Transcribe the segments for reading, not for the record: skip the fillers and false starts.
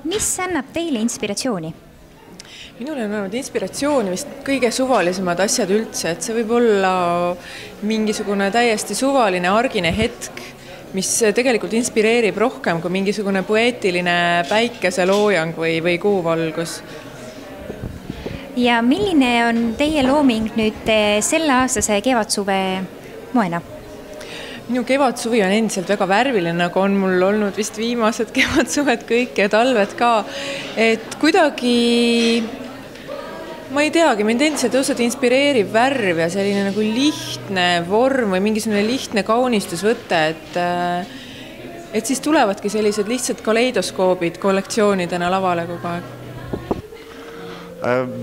Mis annab teile inspiratsiooni? Minule on olnud inspiratsiooni vist kõige suvalisemad asjad üldse, et see võib olla mingisugune täiesti suvaline argine hetk, mis tegelikult inspireerib rohkem kui mingisugune poeetiline päikeseloojang või kuuvalgus. Ja milline on teie looming nüüd selle aastase kevadsuve moena? Minu kevadsuvi on endiselt väga värviline, nagu on mul olnud vist viimased kevadsuvet kõik ja talved ka. Et kuidagi, ma ei teagi, mind endiselt õudselt inspireerib värv ja selline nagu lihtne vorm või mingisugune lihtne kaunistusvõte, et siis tulevadki sellised lihtsalt kaleidoskoobid kollektsioonidena lavale kogu aeg.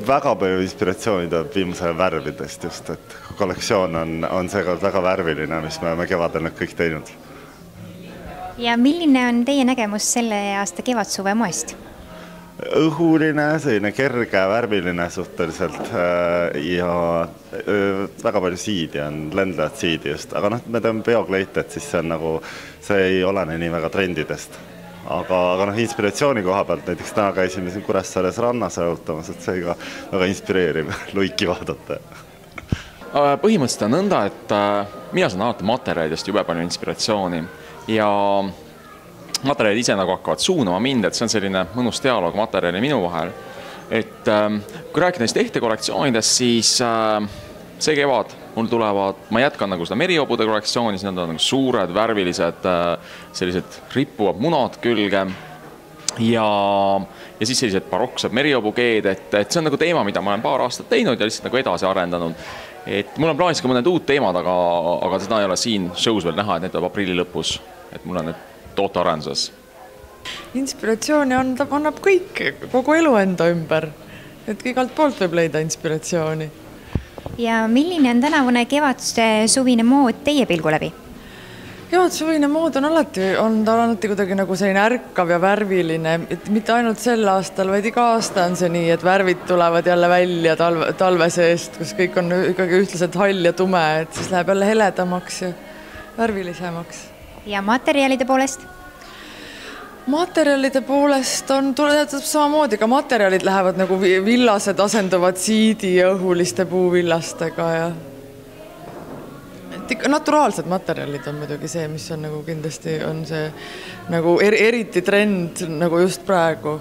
Väga palju inspiratsiooni tuleb viimase värvidest just, et kollektsioon on seekord väga värviline, mis me oleme kevadel nüüd kõik teinud. Ja milline on teie nägemus selle aasta kevadsuve moest? Õhuline, selline kerge, värviline suhteliselt ja väga palju siidi on, lendlevad siidi just, aga me teeme peokleite, et siis see on nagu, see ei olene nii väga trendidest. Aga inspiratsiooni koha pealt, näiteks täna käisime siin Kuressaares rannas jalutamas, et see ka väga inspireerib luiki vaadata. Põhimõtteliselt on nõnda, et mina saan alati materjalidest jube palju inspiratsiooni ja materjalid ise nagu hakkavad suunama mind, et see on selline mõnus dialoog materjali minu vahel. Et kui rääkida neist ehtekollektsioonidest, siis see kevad mul tulevad, ma jätkan nagu seda meriobude kollektsiooni, siis nad on nagu suured, värvilised, sellised rippuvad munad külge ja siis sellised baroksed meriobugeed, et see on nagu teema, mida ma olen paar aastat teinud ja lihtsalt nagu edasi arendanud. Et mul on plaanis ka mõned uut teemad, aga seda ei ole siin show's veel näha, et need tuleb aprilli lõpus, et mul on need tootearenduses. Inspiratsiooni annab kõik, kogu elu enda ümber, et igalt poolt võib leida inspiratsiooni. Ja milline on tänavune kevadsuvine mood teie pilgu läbi? Kevadsuvine mood on alati kuidagi nagu selline ärkav ja värviline, et mitte ainult sel aastal, vaid iga aasta on see nii, et värvid tulevad jälle välja talve seest, kus kõik on ikkagi ühtlaselt hall ja tume, et siis läheb jälle heledamaks ja värvilisemaks. Ja materjalide poolest? Materjalide poolest tuleb samamoodi, ka materjalid lähevad nagu villased asenduvad siidi ja õhuliste puuvillastega ja naturaalsed materjalid on muidugi see, mis on nagu kindlasti on see nagu eriti trend nagu just praegu.